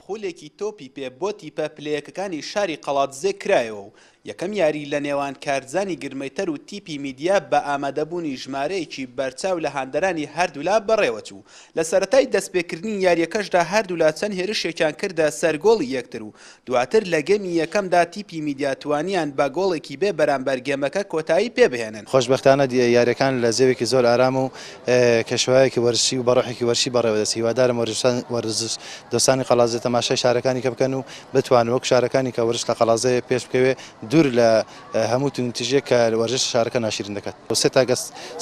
خولێکی تۆپی پێ بۆ تیپە پلەیەکەکانی شاری قەڵادزێ کرایەوە و یەکەم یاری لە نێوان کارزانی گرمەیتەر و تیپی میدیا بە ئامادەبوونی ژمارەیەکی بەرچاو لە هاندەرانی هەردوولا بەڕێوەچوو. لە سەرەتای دەستپێکردنی یارییەکەشدا هەردوولا چەند هێرشێکیان کردە سەر گۆڵی یەکتر و دواتر لە گێمی یەکەمدا تیپی میدیا توانیان بە گۆڵێکی بێ بەرامبەر گێمەکە کۆتایی پێبهێنن. خۆشبەختانە یارییەکان لە جەوێکی زۆر ئارام و کەشوهەوایەکی وەرزشی و بە ڕۆحێکی وەرزشی بەڕێوەدەچێت، هیوادارم وەرزش دۆستانی قەڵادزێ تەماشای شارەکانی کە بکەن و بتوانن وەک شارەکانی کە وەرزش لە قەڵادزێ پێش بکەوێ دوور لە هەموو توندوتیژیەک کە وەرزش شارەکە ناشیرین دەکات. سێ تاکە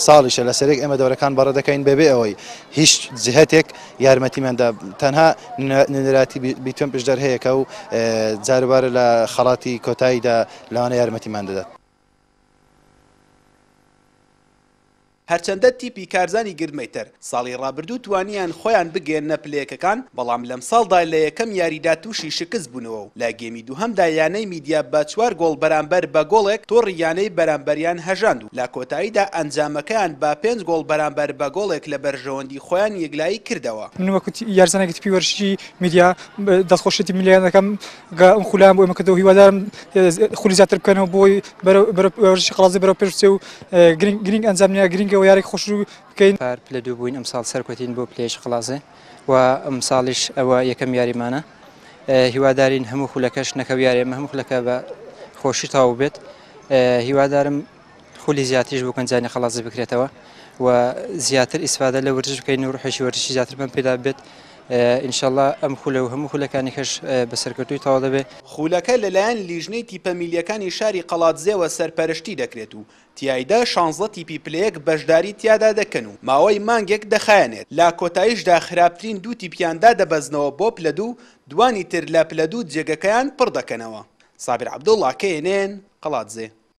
ساڵیشە لەسەرێک ئێمە دەورەکان بەڕێ دەکەین بەبێ ئەوەی هیچ جهتێک یارمەتیمان دا تەنها نوێنەراتی بیتوێن پشدەر هەیە کە و جاروبارە لە خەڵاتی کۆتاییدا لەوانە یارمەتیمان دەدات. هەرچەندە تیپی کارزانی گردمەیتەر ساڵی ڕابردوو توانیان خۆیان بگەیەننە پلەیەکەکان، بەڵام لەمساڵدا لە یەکەم یاریدا تووشی شکست بوونەوە و لە گێمی دووهەمدا یانەی میدیا بە چوار گۆڵ بەرامبەر بە گۆڵێک تۆڕی یانەی بەرامبەریان هەژاند و لە کۆتاییدا ئەنجامەکەیان بە پێنج گۆڵ بەرامبەر بە گۆڵێک لە بەرژەوەندی خۆیان یەکلایی کردەوە. من وەکو یاریزانێکی تیپی وەرزشی میدیا دەستخۆشی تیپی میدیا دەکەم کە ئەم خولەیان بۆ ئێمە کردەوە، هیوادارم خولی زیاتر بکەنەوە بۆی بەرەو وەرزشی قەڵادزێ بەرەو پێش بچێ و گرنگ ئەنجام نییە گرنگەوە یاریک خۆش بکەین. پار پلە دوو بووین ئەمساڵ سەرکەوتین بۆ پلەیەکی قەڵادزێ و ئەمساڵیش ئەوە یەکەم یاریمانە هیوادارین هەموو خولەکەش نەکەو یارێمە هەموو خولەکە بە خۆشی تەواو بێت هیوادارم خولی زیاتریش بۆ گەنجانی قەڵادزێ بکرێتەوە و زیاتر ئیسفادە لە وەرزش بکەین و ڕحێکی وەرزشی زیاترمان پێدا بێت ئینشەڵا ئەم خولە و هەموو خولەکانی کەش بە سەرکەوتووی تەواو دەبێت. خولەکە لەلایەن لیژنەی تیپە میلییەکانی شاری قەڵادزێوە سەرپەرشتی دەکرێت و تیایدا شانزە تیپی پلە یەک بەشداری تیادا دەکەن و ماوەی مانگێک دەخایەنێت، لە کۆتاییشدا خراپترین دوو تیپیان دادەبەزنەوە بۆ پلە دوو، دوانی تر لە پلە دوو جێگەکەیان پڕدەکەنەوە. سابیر عەبدوڵا، کەی ئێن ئێن، قەڵادزێ.